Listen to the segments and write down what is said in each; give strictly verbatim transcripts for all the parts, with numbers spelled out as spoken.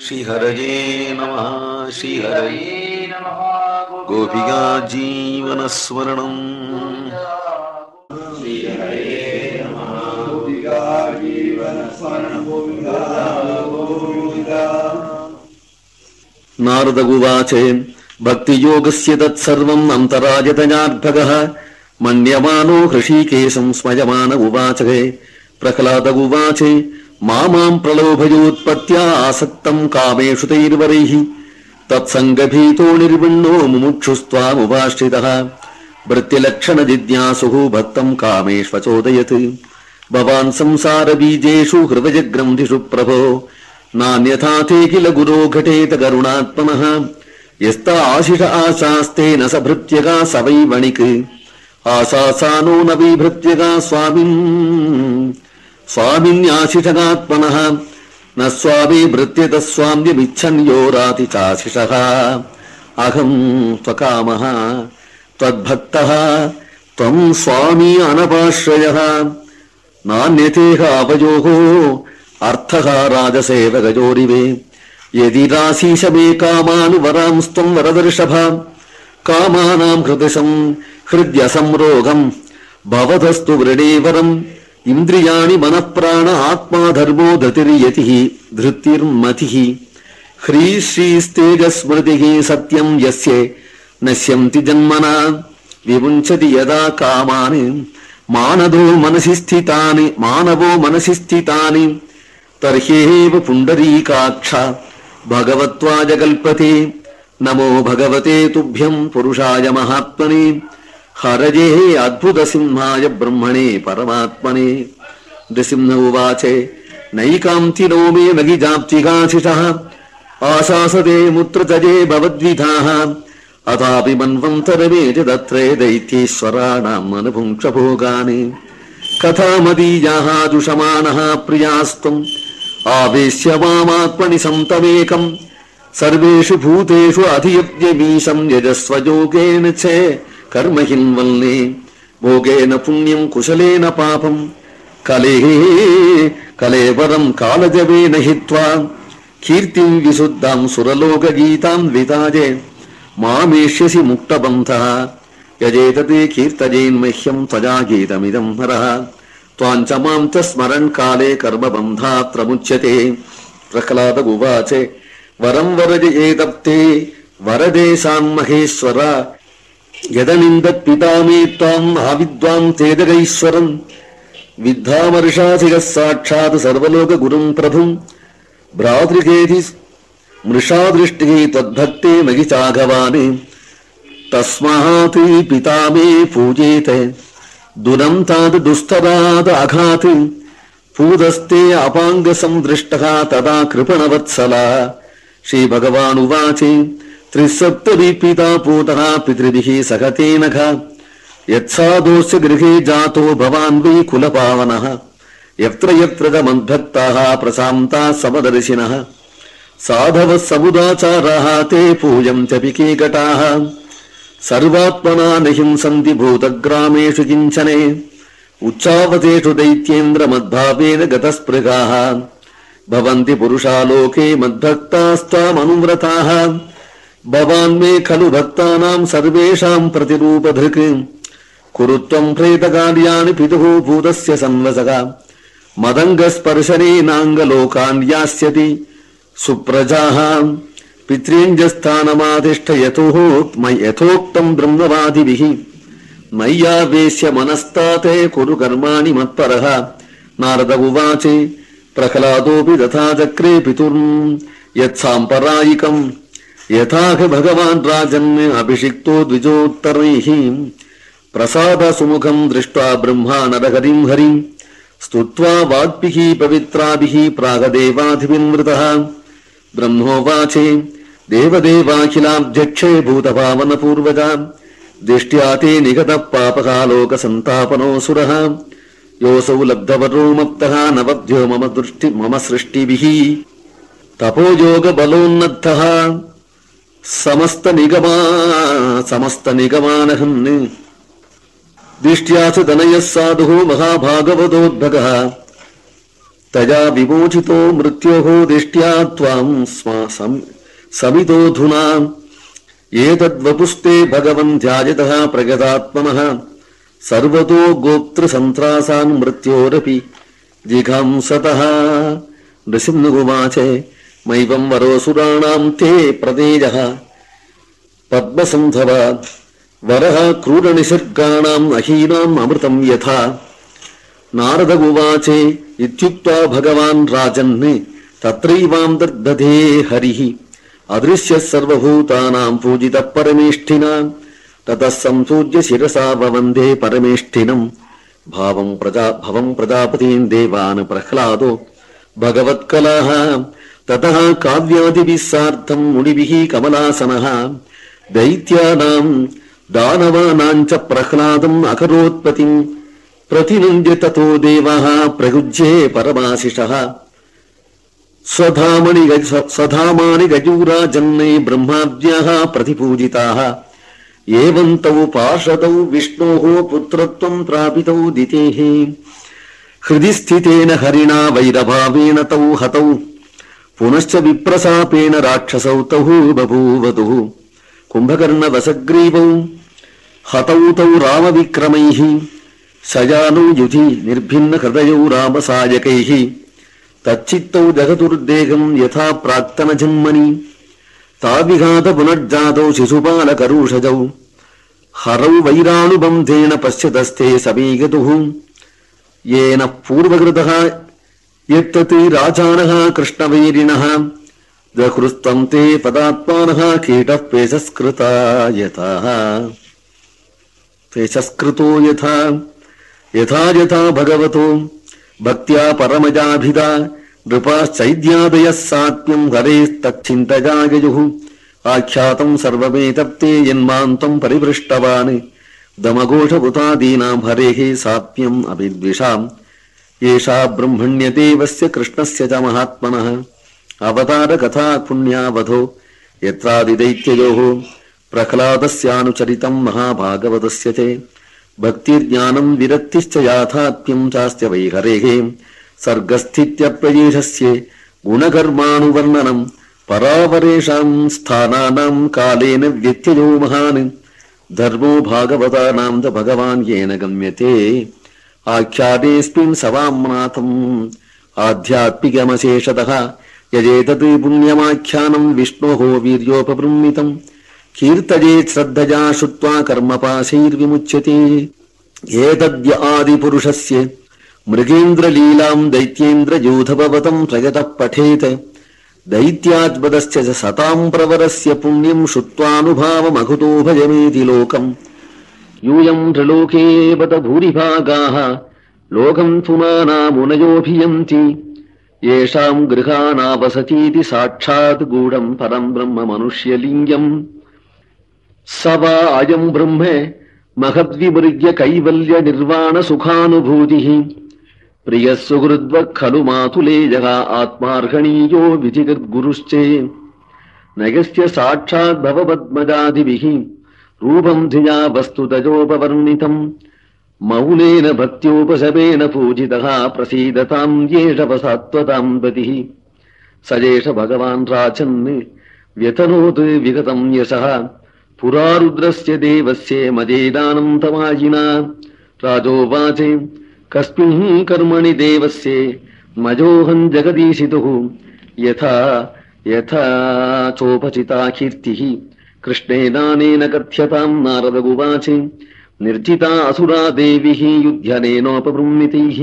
श्रीहरये नमः श्रीहरये नमः गोपिका जीवनस्मरणम् श्रीहरये नमः गोपिका जीवनस्मरणं गोविन्दा नारद उवाच भक्तियोगस्य तत्सर्वम् अन्तरायतयार्भगः मन्यमानो हृषीकेशं स्मयमान उवाच प्रह्लाद उवाच मामां प्रलोभयोत्पत्त्या आसक्तं कामेषु तैर्वरैः तत्सङ्गभीतो निर्विण्णो मुमुक्षुस्त्वामुपाश्रितः वृत्तिलक्षणजिज्ञासुः भक्तं कामेष्वचोदयत् भवान् संसारबीजेषु हृदयग्रन्थिषु प्रभो नान्यथा ते किल गुरो घटेत करुणात्मनः यस्ता आशिष आशास्तेन स भृत्यगा स वै वणिक् आशासानो न वै भृत्यगा स्वामिन् स्वामिन्याशिषगात्मनः न स्वामी भृत्यत स्वाम्यमिच्छन् यो राति चाशिषः अहं त्वकामः त्वद्भक्तः त्वं स्वामी अनपाश्रयः नान्यतेह आवयोः अर्थः राजसेवकजोरिवे यदि राशीष मे कामानुवरांस्त्वं वरदर्शभ कामानां हृदयं हृद्यसंरोगं भवतस्तु वृणेवरम् इन्द्रियाणि मनःप्राण आत्मा धर्मो धृतिर्यतिः धृतिर्मतिः ह्री श्रीस्तेजस्मृतिः सत्यं यस्य नश्यन्ति जन्मना विमुञ्चति यदा कामानि मानदो मनसि स्थितानि मानवो मनसि स्थितानि तर्ह्येव पुण्डरीकाक्ष भगवत्वाय कल्पते नमो भगवते तुभ्यं पुरुषाय महात्मने हरये अद्भुत सिंहाय ब्रह्मणे परमात्मने नृसिंह उवाच नैकान्तिनो मे नगिजाप्तिकाशिषः आशासते मुत्रतजे भवद्विधाः अथापि मन्वन्तरमे च दत्रे दैत्येश्वराणाम् अनुभुङ्क्षभोगानि कथामदीयाः दुषमाणः प्रियास्त्वम् आवेश्य मामात्मनि सन्तमेकम् सर्वेषु भूतेषु अधियज्ञमीशं यजस्वयोगेन च कर्महिन्वल्ले भोगेन पुण्यं कुशलेन पापं कलेः कलेवरं कालजवेन हित्वा कीर्तिं विशुद्धां सुरलोकगीतां विताजे मामेष्यसि मुक्तबन्धः यजेतते कीर्तयेन्मह्यं त्वया गीतमिदं हरः त्वाञ्च मां च स्मरन् काले कर्मबन्धात् मुच्यते प्रह्लाद उवाच वरं वरजयेदप्ते वरदेशान् महेश्वर यदनिन्दत् पिता मे त्वाम् आविद्वान् तेजगैश्वरम् विद्धामर्षाधिगः साक्षात् सर्वलोकगुरुं प्रभुम् भ्रातृकेति मृषा दृष्टिः त्वद्भक्ते मयि चाघवानि तस्मात् पिता मे पूजेत दुरन्ताद् दुस्तराद् अघात् पूदस्ते अपाङ्गसंदृष्टः तदा कृपणवत्सला श्रीभगवानुवाच त्रिसप्तभिः पिता पूतः पितृभिः सखतेन घ यत्साधोस्य गृहे जातो भवान् वै कुलपावनः यत्र यत्र च मद्भक्ताः प्रशान्ताः समदर्शिनः साधवः समुदाचाराः ते पूजन्त्यपि केकटाः सर्वात्मना न हिंसन्ति भूतग्रामेषु किञ्चने उच्चावतेषु दैत्येन्द्रमद्भावेन गतस्पृगाः भवन्ति पुरुषा लोके मद्भक्तास्त्वामनुव्रताः भवान् मे खलु भक्तानां सर्वेषां प्रतिरूपधृक् कुरु त्वं प्रेतकार्याणि पितुः भूतस्य संवसः मदङ्गस्पर्शनेनाङ्गलोकान् यास्यति सुप्रजाः पितॄञ्जस्थानमातिष्ठ यथोक्तं ब्रह्मवादिभिः मय्यावेश्य मनस्ताते कुरु कर्माणि मत्परः नारद उवाच प्रह्लादोऽपि तथा चक्रे पितुर् यत्साम्परायिकम् यथाह भगवान् राजन् अभिषिक्तो द्विजोत्तरैः प्रसाद सुमुखं दृष्ट्वा ब्रह्मा नरहरिं हरिं स्तुत्वा वाग्भिः पवित्राभिः प्रागदेवाधिविन्वृतः ब्रह्मोवाच देवदेवाखिलाब्ध्यक्षे भूतपावनपूर्वजा दिष्ट्या ते निगतः पापकालोकसन्तापनोऽसुरः योऽसौ लब्धवरो मत्तः नवद्यो मम दृष्टि मम सृष्टिभिः तपोयोगबलोन्नद्धः समस्त निगमा समस्त निगमानहन् दिष्ट्या च तनयः साधुः महाभागवतोद्भगः तया विमोचितो मृत्योः दिष्ट्या त्वां समितोऽधुना एतद्वपुस्ते भगवन् ध्यायतः प्रगतात्मनः सर्वतो गोप्तृसन्त्रासान् मृत्योरपि जिघांसतः। नृसिंहउवाच मैवं वरोऽसुराणां ते प्रतेजः पद्मसन्धवात् वरः क्रूरनिसर्गाणाम् अहीनाम् अमृतं यथा। नारद उवाच इत्युक्त्वा भगवान् राजन् तत्रैवां दर्दधे हरिः अदृश्यः सर्वभूतानां पूजितः परमेष्ठिना। ततः संसूज्य शिरसा ववन्दे परमेष्ठिनम् भावं प्रजा भवं प्रजापतीन् देवान् प्रह्लादो भगवत्कलाः। ततः काव्यादिभिः सार्धं मुनिभिः कमलासनः दैत्यानां दानवानां च प्रह्लादम् अकरोत्पतिम् प्रतिनन्द्य ततो देवः प्रयुज्ये परमाशिषः। स्वधामनि स्वधामानि गजूराजन्ने ब्रह्माद्याः प्रतिपूजिताः एवं तौ पार्षदौ विष्णोः पुत्रत्वं प्रापितौ दितेः। हृदि स्थितेन हरिणा वैरभावेन तौ हतौ पुनश्च विप्रशापेन राक्षसौ तौ बभूवतुः। कुम्भकर्णवसग्रीवौ हतौ तौ रामविक्रमैः शयानौ युधि निर्भिन्न हृदयौ रामसायकैः। तच्चित्तौ जगतुर्देहं यथा प्राक्तन जन्मनि ताविघात पुनर्जातौ शिशुपालकरुषजौ हरौ वैराणुबन्धेन पश्यतस्ते समीगतुः। येन पूर्वकृतः यत्तत् राजानः कृष्णवैरिणः दहृस्तं ते पदात्मानः कीटः पेशस्कृता यथा पेशस्कृतो यथा यथा यथा भगवतो भक्त्या परमजाभिधा नृपाश्चैद्यादयः सात्म्यं हरेस्तच्छिन्तया ययुः। आख्यातं सर्वमेतत्ते यन्मान्तं परिपृष्टवान् दमघोषभूतादीनां हरेः सात्म्यम् अभिद्विषाम्। एषा ब्रह्मण्यदेवस्य कृष्णस्य च महात्मनः अवतारकथा पुण्यावधो यत्रादिदैत्ययोः प्रह्लादस्यानुचरितं महाभागवतस्य च भक्तिर्ज्ञानं विरक्तिश्च याथात्म्यं चास्य वै हरेः। सर्गस्थित्यप्रदेशस्य गुणकर्मानुवर्णनं परावरेषां स्थानानां कालेन व्यत्ययो महान् धर्मो भागवतानां च भगवान् येन गम्यते। आख्यातेऽस्मिन् सवाम्नाथम् आध्यात्मिकमशेषतः यजेतत् पुण्यमाख्यानं विष्णोः वीर्योपबृंहितम् कीर्तयेत् श्रद्धया श्रुत्वा कर्मपाशैर्विमुच्यते। एतद्य आदिपुरुषस्य मृगेन्द्रलीलां दैत्येन्द्रयूथभवतं प्रयतः पठेत् दैत्याद्वदश्च सतां प्रवरस्य पुण्यं श्रुत्वानुभावमघुतो भजमेति लोकम्। यूयं त्रिलोके बत भूरिभागाः लोकं पुमानामुनयोऽभियन्ति येषां गृहानावसतीति साक्षात् गूढं परं ब्रह्म मनुष्यलिङ्गम्। स वा अयं ब्रह्म महद्विमृग्य कैवल्य निर्वाण सुखानुभूतिः प्रियः सुहृद्वः खलु मातुलेयः आत्मार्हणीयो विधिगद्गुरुश्चे। नगस्य साक्षात् भवपद्मजादिभिः रूपं धिया वस्तुतजोपवर्णितम् मौलेन भक्त्योपशमेन पूजितः प्रसीदतां येषवसात्वतां पतिः। स एष भगवान् राजन् व्यतनोत् विगतं यशः पुरा रुद्रस्य देवस्य मजेदानं तमायिना। राजोवाच कस्मिन् कर्मणि देवस्य मजोऽहं जगदीशितुः यथा यथा चोपचिता कीर्तिः कृष्णेनानेन कथ्यतां। नारद उवाच निर्जिता असुरा देवीः युध्यनेनोपबृंहितैः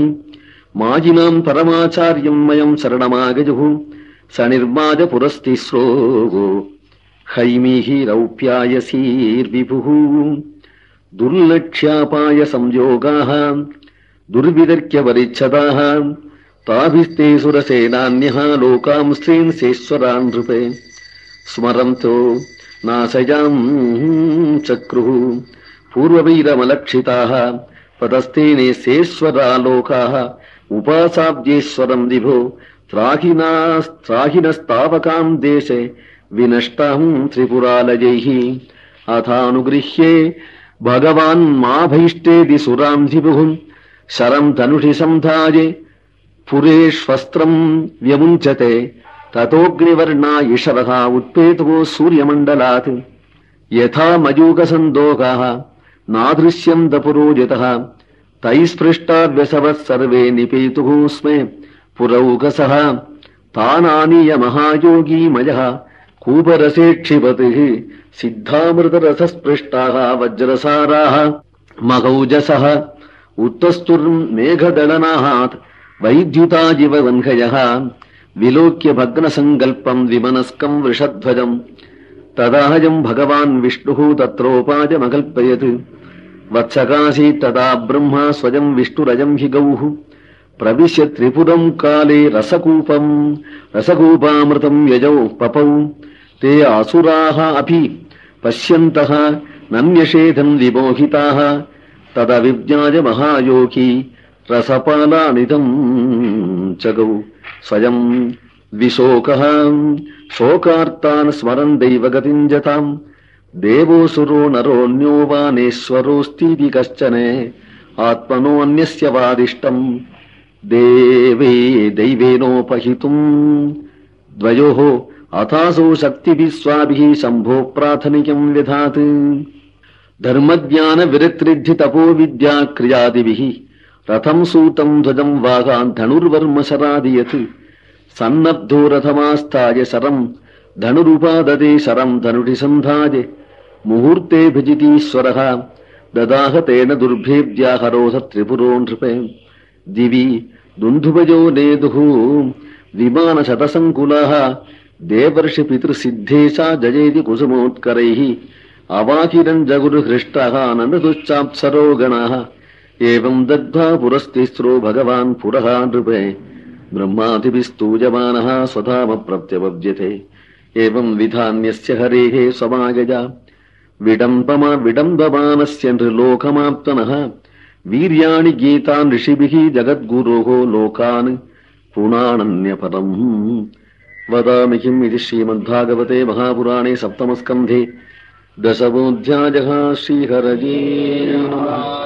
माजिनां परमाचार्यं मयं शरणमागजुः। स निर्माज पुरस्तिस्रो हैमीः रौप्यायसीर्विभुः दुर्लक्ष्यापाय संयोगाः दुर्विदर्क्य परिच्छदाः ताभिस्ते सुरसेनान्यः लोकां स्त्रीन् सेश्वरान् नृपे स्मरन्तो नाशयां चक्रुः पूर्ववीरमलक्षिताः पदस्तेने सेश्वरा लोकाः उपासाब्जेश्वरं विभो त्राहिनस्तावकां देशे विनष्टां त्रिपुरालयैः। अथानुगृह्ये भगवान् माभैष्टेदि सुरां धिपुः शरं धनुषि संधाये पुरेष्वस्त्रम् व्यमुञ्चते ततोऽग्निवर्णा इषवः उत्पेतो सूर्यमण्डलात् यथा मयूकसन्दोगाः नादृश्यम् दपुरोजितः तैस्पृष्टाव्यसवः सर्वे निपेतुः स्मे पुरौकसः तानानीय महायोगी मयः कूपरसे क्षिपतिः सिद्धामृतरसस्पृष्टाः वज्रसाराः मगौजसः उत्तस्तुर्मेघदलनात् वैद्युताजिव वह्नयः विलोक्य भग्नसङ्कल्पम् विमनस्कम् वृषध्वजम् तदाहजम् भगवान् विष्णुः तत्रोपायमकल्पयत् वत्सकासीत् तदा ब्रह्मा स्वयम् विष्णुरजम् हि गौः प्रविश्य त्रिपुरम् काले रसकूपम् रसकूपामृतम् यजौ पपौ ते आसुराः अपि पश्यन्तः नन्यषेधम् विमोहिताः तदविज्ञाय महायोगी रसपालानिदम् चगौ स्वयम् विशोकः शोकार्तान् स्मरन् दैवगतिम् जताम् देवोऽसुरो नरोऽन्यो वानेश्वरोऽस्तीति कश्चन आत्मनोऽन्यस्य वादिष्टम् देवे दैवेनोपहितुम् द्वयोः अथासौ शक्तिभिः स्वाभिः शम्भो प्राथमिकम् विधात् धर्मज्ञानविरक्तृद्धि तपो विद्या क्रियादिभिः रथम् सूतम् ध्वजम् वागान् धनुर्वर्म शरादियत् सन्नब्धो रथमास्थाय शरम् धनुरुपाददे शरम् धनुषि सन्धाय मुहूर्ते भजितीश्वरः ददाह तेन दुर्भेद्याहरोध त्रिपुरो नृपे दिवि दुन्धुभजो नेदुः विमानशतसङ्कुलाः देवर्षि पितृसिद्धेशा जयेति कुसुमोत्करैः अवाकिरम् जगुरुहृष्टः नन्दुश्चाप्सरो गणाः एवम् दग्धा पुरस्तिस्रो भगवान् पुरः नृपे ब्रह्मादिभिस्तूयमानः स्वधाम प्रत्यपद्यते एवम् विधान्यस्य हरेः समागजा विडम्बमा विडम्बमानस्य नृलोकमाप्तनः वीर्याणि गीतान् ऋषिभिः जगद्गुरोः लोकान् पुराणन्यपरम् वदामि किम् इति श्रीमद्भागवते महापुराणे सप्तमस्कन्धे दशमोऽध्यायः। श्रीहरये नमः।